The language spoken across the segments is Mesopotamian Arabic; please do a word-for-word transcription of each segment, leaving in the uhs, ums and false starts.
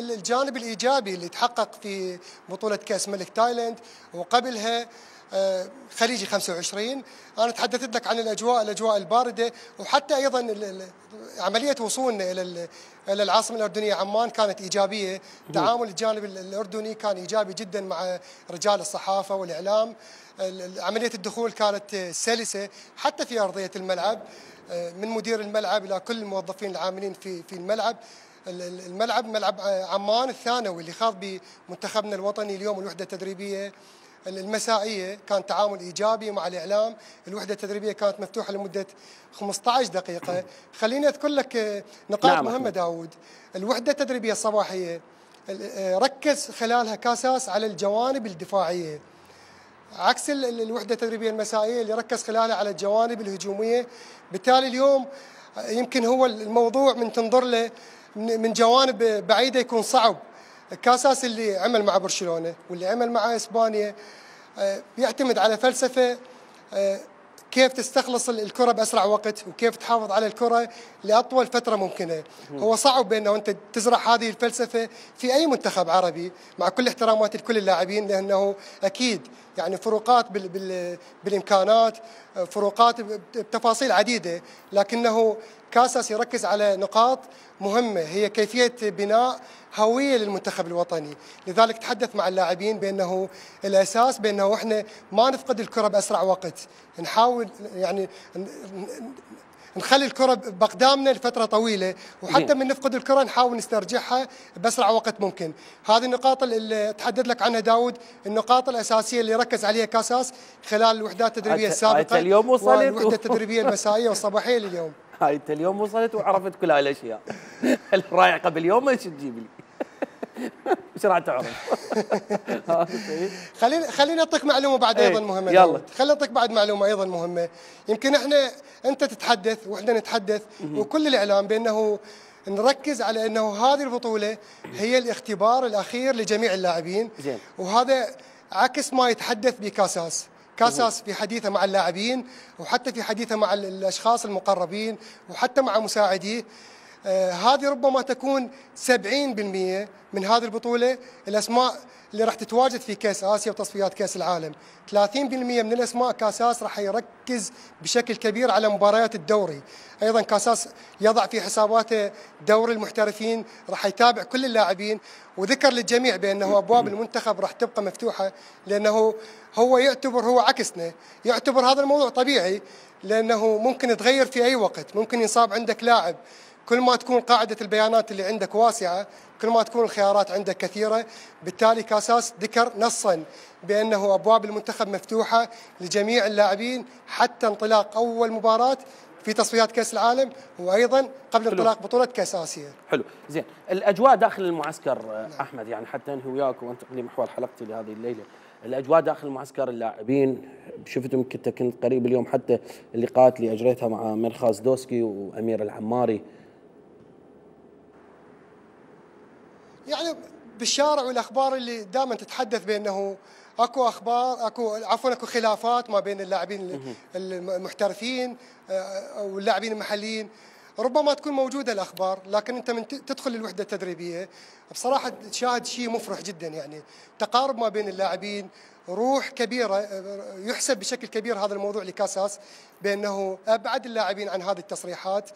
الجانب الايجابي اللي تحقق في بطوله كاس ملك تايلاند وقبلها خليجي خمسة وعشرين. انا تحدثت لك عن الاجواء الاجواء البارده، وحتى ايضا عمليه وصولنا الى الى العاصمه الاردنيه عمان كانت ايجابيه. تعامل الجانب الاردني كان ايجابي جدا مع رجال الصحافه والاعلام. عمليه الدخول كانت سلسه حتى في ارضيه الملعب، من مدير الملعب الى كل الموظفين العاملين في في الملعب. الملعب ملعب عمان الثانوي اللي خاض بمنتخبنا الوطني اليوم الوحده التدريبيه المسائيه كان تعامل ايجابي مع الاعلام. الوحده التدريبيه كانت مفتوحه لمده خمسة عشر دقيقه. خليني اذكر لك نقاط نعم مهمه داود. الوحده التدريبيه الصباحيه ركز خلالها كاساس على الجوانب الدفاعيه، عكس الوحده التدريبيه المسائيه اللي ركز خلالها على الجوانب الهجوميه. بالتالي اليوم يمكن هو الموضوع من تنظر له من جوانب بعيده يكون صعب. كاساس اللي عمل مع برشلونه واللي عمل مع اسبانيا بيعتمد على فلسفه كيف تستخلص الكره باسرع وقت وكيف تحافظ على الكره لاطول فتره ممكنه. هو صعب بانه انت تزرع هذه الفلسفه في اي منتخب عربي، مع كل احتراماتي لكل اللاعبين، لانه اكيد يعني فروقات بال بال بالامكانات، فروقات بتفاصيل عديده، لكنه كاساس يركز على نقاط مهمه هي كيفيه بناء هويه للمنتخب الوطني. لذلك تحدث مع اللاعبين بانه الاساس بانه احنا ما نفقد الكره باسرع وقت، نحاول يعني نخلي الكره باقدامنا لفتره طويله، وحتى من نفقد الكره نحاول نسترجعها باسرع وقت ممكن. هذه النقاط اللي تحدث لك عنها داود، النقاط الاساسيه اللي ركز عليها كاساس خلال الوحدات التدريبيه السابقه اليوم وصلت والوحده التدريبيه المسائيه والصباحيه لليوم. هاي انت اليوم وصلت وعرفت كل هاي الاشياء. رايح قبل يوم ايش تجيب لي؟ ايش راح تعرف؟ خليني خليني اعطيك معلومه بعد ايضا مهمه. يلا خليني اعطيك بعد معلومه ايضا مهمه. يمكن احنا انت تتحدث واحنا نتحدث وكل الاعلام بانه نركز على انه هذه البطوله هي الاختبار الاخير لجميع اللاعبين، وهذا عكس ما يتحدث بكاساس. كاساس في حديثه مع اللاعبين وحتى في حديثه مع الاشخاص المقربين وحتى مع مساعديه، آه هذه ربما تكون سبعين بالمئة من هذه البطوله الاسماء اللي راح تتواجد في كاس اسيا وتصفيات كاس العالم. ثلاثين بالمئة من الاسماء كاساس راح يركز بشكل كبير على مباريات الدوري. ايضا كاساس يضع في حساباته دوري المحترفين، راح يتابع كل اللاعبين، وذكر للجميع بانه ابواب المنتخب راح تبقى مفتوحه، لانه هو يعتبر هو عكسنا، يعتبر هذا الموضوع طبيعي، لانه ممكن يتغير في اي وقت، ممكن ينصاب عندك لاعب. كل ما تكون قاعده البيانات اللي عندك واسعه، كل ما تكون الخيارات عندك كثيره. بالتالي كاساس ذكر نصا بانه ابواب المنتخب مفتوحه لجميع اللاعبين حتى انطلاق اول مباراه في تصفيات كاس العالم، وايضا قبل حلو. انطلاق بطوله كاس اسيا. حلو، زين. الاجواء داخل المعسكر نعم. احمد، يعني حتى انهي وياك وانتقل لمحور حلقتي لهذه الليله. الاجواء داخل المعسكر اللاعبين، شفتم كنت كنت قريب اليوم حتى اللقاءات اللي اجريتها مع مرخاز دوسكي وامير العماري. يعني بالشارع والاخبار اللي دائما تتحدث بانه اكو اخبار اكو عفوا اكو خلافات ما بين اللاعبين المحترفين واللاعبين المحليين، ربما تكون موجوده الاخبار، لكن انت من تدخل الوحده التدريبيه بصراحه تشاهد شيء مفرح جدا، يعني تقارب ما بين اللاعبين، روح كبيره. يحسب بشكل كبير هذا الموضوع لكاساس بانه ابعد اللاعبين عن هذه التصريحات،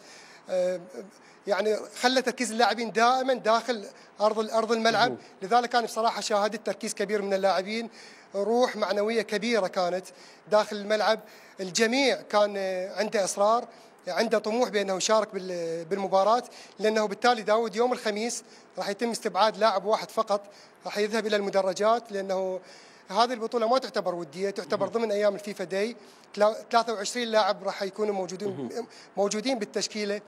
يعني خلى تركيز اللاعبين دائما داخل ارض ارض الملعب. لذلك انا بصراحه شاهدت تركيز كبير من اللاعبين، روح معنويه كبيره كانت داخل الملعب. الجميع كان عنده اصرار، عنده طموح بانه يشارك بالمباراه، لانه بالتالي داود يوم الخميس راح يتم استبعاد لاعب واحد فقط، راح يذهب الى المدرجات، لانه هذه البطوله ما تعتبر وديه، تعتبر ضمن ايام الفيفا داي. ثلاثة وعشرين لاعب راح يكونوا موجودين موجودين بالتشكيله.